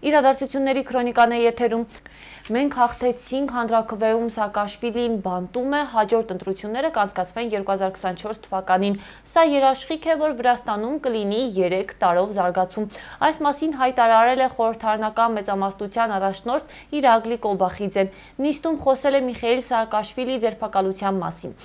Իրադարձությունների քրոնիկան է եթերում։ Մենք հաղթեցինք, հանրաքվեում Սաակաշվիլին բանտում է, հաջորդ ընտրությունները կանցկացվեն 2024 թվականին։ Սա երաշխիք է, որ Վրաստանում կլինի 3 տարով զարգացում։ Այս մասին հայտարարել է խորհրդարանական մեծամասնության առաջնորդ Իրակլի Կոբախիձեն։ Նիստում խոսել է Միխեիլ Սաակաշվիլիի ձերբակալության մասին։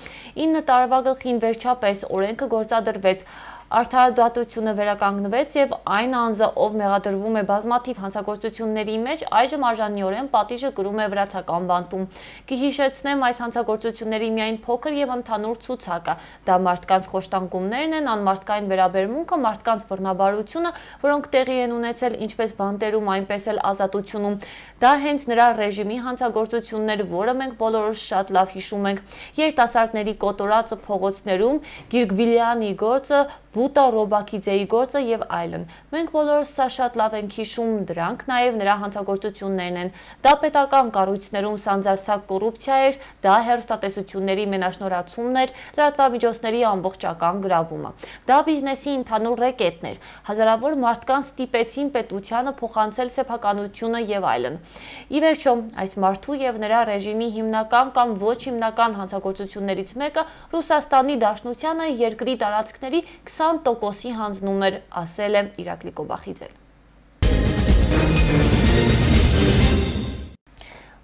9 տարվա գլխին վերջապես օրենքը գործադրվեց։ Արդարադատությունը վերականգնվեց եւ այն անձը, ով մեղադրվում է բազմաթիվ հանցագործությունների մեջ, այժմ արժանիորեն պատիժը կրում է վրացական բանտում։ Կհիշեցնեմ, այս հանցագործությունների միայն փոքր եւ ընդհանուր ցուցակը։ Դա մարդկանց խոշտանգումներն են, անմարդկային վերաբերմունքը, մարդկանց բռնաբարությունը, որոնք տեղի են ունեցել ինչպես բանտերում, այնպես էլ ազատությունում։ Դա հենց նրա ռեժիմի հանցագործություններ, որը մենք բոլորս շատ լավ հիշում ենք։ Երիտասարդների կոտորածը փողոցներում, Գիրգվիլյանի գործը, Բուտա Ռոբակիձեի գործը եւ այլն։ Մենք բոլորս սա շատ լավ ենք հիշում, դրանք նաեւ նրա հանցագործություններն են։ Դա պետական կառույցներում սանձարձակ կոռուպցիա էր, դա հեռուստատեսությունների մենաշնորհացումն էր, լրատվամիջոցների ամբողջական գրավումը։ Դա բիզնեսի ընդհանուր ռեկետն էր։ Հազարավոր մարդկանց ստիպեցին պետությանը փոխանցել սեփականությունը եւ այլն։ Ի վերջո, այս մարդու եւ նրա ռեժիմի հիմնական կամ ոչ հիմնական հանցագործություններից մեկը Ռուսաստանի Դաշնությանը երկրի տարածքների 20%-ի հանձնում էր, ասել է Իրակլի Կոբախիձեն։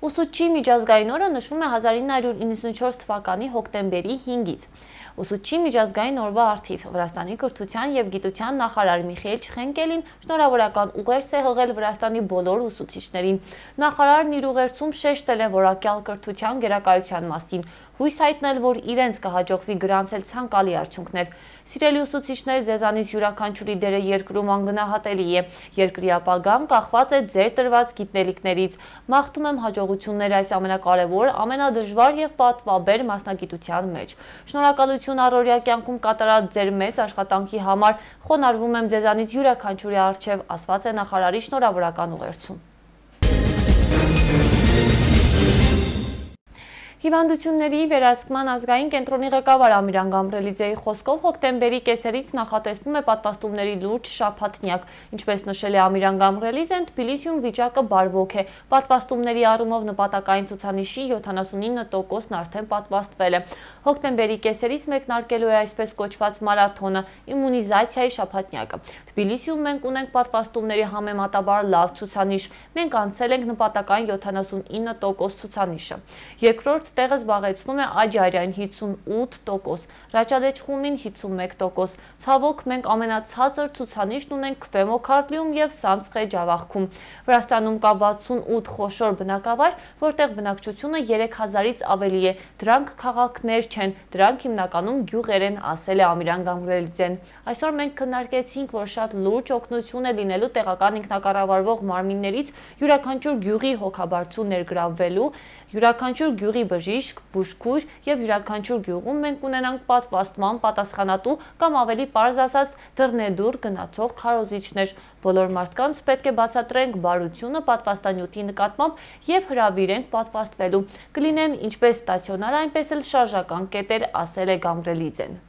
Ուսուցչի միջազգային օրը նշվում է 1994 թվականի հոկտեմբերի 5-ից։ Ուսուցչի միջազգային օրվա առթիվ Վրաստանի կրթության եւ գիտության նախարար Միխեիլ Չխենկելին շնորհավորական ուղերձ է հղել Վրաստանի բոլոր ուսուցիչներին։ Նախարարն իր ուղերձում շեշտել է որակյալ կրթության գերակայության մասին, հույս հայտնել, որ իրենց կհաջողվի գրանցել ցանկալի արդյունքներ։ Սիրելի ուսուցիչներ, ձեզանից յուրաքանչյուրի դերը երկրում անգնահատելի է։ Երկրի ապագան կախված է ձեր տրված գիտելիքներից։ Մաղթում եմ հաջողություններ այս ամենակարևոր, ամենադժվար եւ պատվաբեր մասնագիտության մեջ։ Շնորհակալություն առօրյա կյանքում կատարած ձեր մեծ աշխատանքի համար։ Խոնարհվում եմ ձեզանից յուրաքանչյուրի առջև, ասված է նախարարի շնորհավորական ուղերձում։ Հիվանդությունների վերահսկման ազգային կենտրոնի ղեկավար Ամիրան Գամրելիձեի խոսքով հոկտեմբերի կեսերից նախատեսվում է պատվաստումների լուրջ շաբաթնյակ։ Ինչպես նշել է Ամիրան Գամրելիձեն, Թբիլիսիում վիճակը բարվոք է։ Պատվաստումների առումով նպատակային ցուցանիշի 79%-ն արդեն պատվաստվել է։ Հոկտեմբերի կեսերից մեկնարկելու է այսպես կոչված մարաթոնը, իմունիզացիայի շաբաթնյակը։ Թբիլիսիում մենք ունենք պատվաստումների համեմատաբար լավ ցուցանիշ։ Մենք անցել ենք նպատակային 79% ցուցանիշը։ Երկրորդ տեղը զբաղեցնում է Աջարյան 58%, Ռաճադեչխումին 51%։ Ցավոք, մենք ամենացածր ցուցանիշն ունենք Քվեմոքարդլիում եւ Սամցխե Ջավախքում։ Վրաստանում կա 68 խոշոր բնակավայր, որտեղ բնակչությունը 3000-ից ավելի է։ Դրանք քաղաքներ չեն, դրանք հիմնականում գյուղեր են, ասել է Ամիրան Գամրելիձեն։ Այսօր մենք քննարկեցինք, որ շատ լուրջ օգնություն է լինելու տեղական ինքնակառավարվող մարմիններից յուրաքանչյուր գյուղի հոգաբարձու ներգրավվելու, յուրաքանչյուր գյուղի բժիշկ, բուժքույր եւ յուրաքանչյուր գյուղում մենք ունենանք պատվաստման պատասխանատու կամ ավելի պարզ ասած դռնեդուր գնացող քարոզիչներ։ Բոլոր մարդկանց պետք է բացատրենք բարությունը պատվաստանյութի նկատմամբ եւ հրավիրենք պատվաստվելու։ Կլինեն ինչպես ստացիոնար, այնպես էլ շարժական կետեր, ասել է Գամրելիձեն։